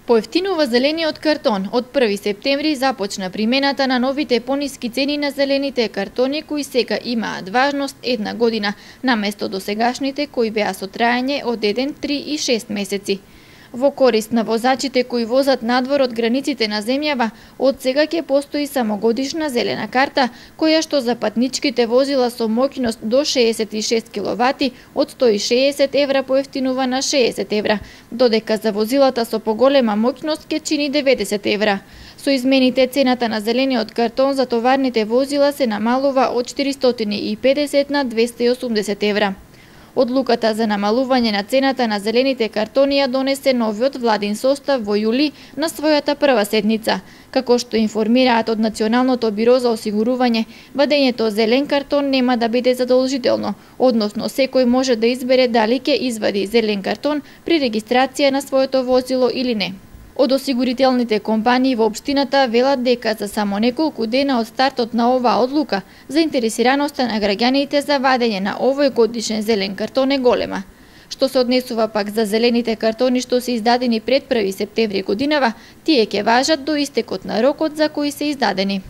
Поевтинува зелениот картон. Од 1 септември започна примената на новите пониски цени на зелените картони кои сега имаат важност една година, наместо досегашните кои беа со траење од 1, 3 и 6 месеци. Во корист на возачите кои возат надвор од границите на земјава, од сега ќе постои само годишна зелена карта, која што за патничките возила со моќност до 66 киловати од 160 евра поевтинува на 60 евра, додека за возилата со поголема моќност ќе чини 90 евра. Со измените цената на зелениот картон за товарните возила се намалува од 450 на 280 евра. Одлуката за намалување на цената на зелените картони ја донесе новиот владин состав во јули на својата прва седница. Како што информираат од Националното биро за осигурување, вадењето зелен картон нема да биде задолжително, односно секој може да избере дали ќе извади зелен картон при регистрација на своето возило или не. Од осигурителните компании во општината велат дека за само неколку дена од стартот на оваа одлука, заинтересираноста на граѓаните за вадење на овој годишен зелен картон е голема. Што се однесува пак за зелените картони што се издадени пред 1 септември годинава, тие ќе важат до истекот на рокот за кои се издадени.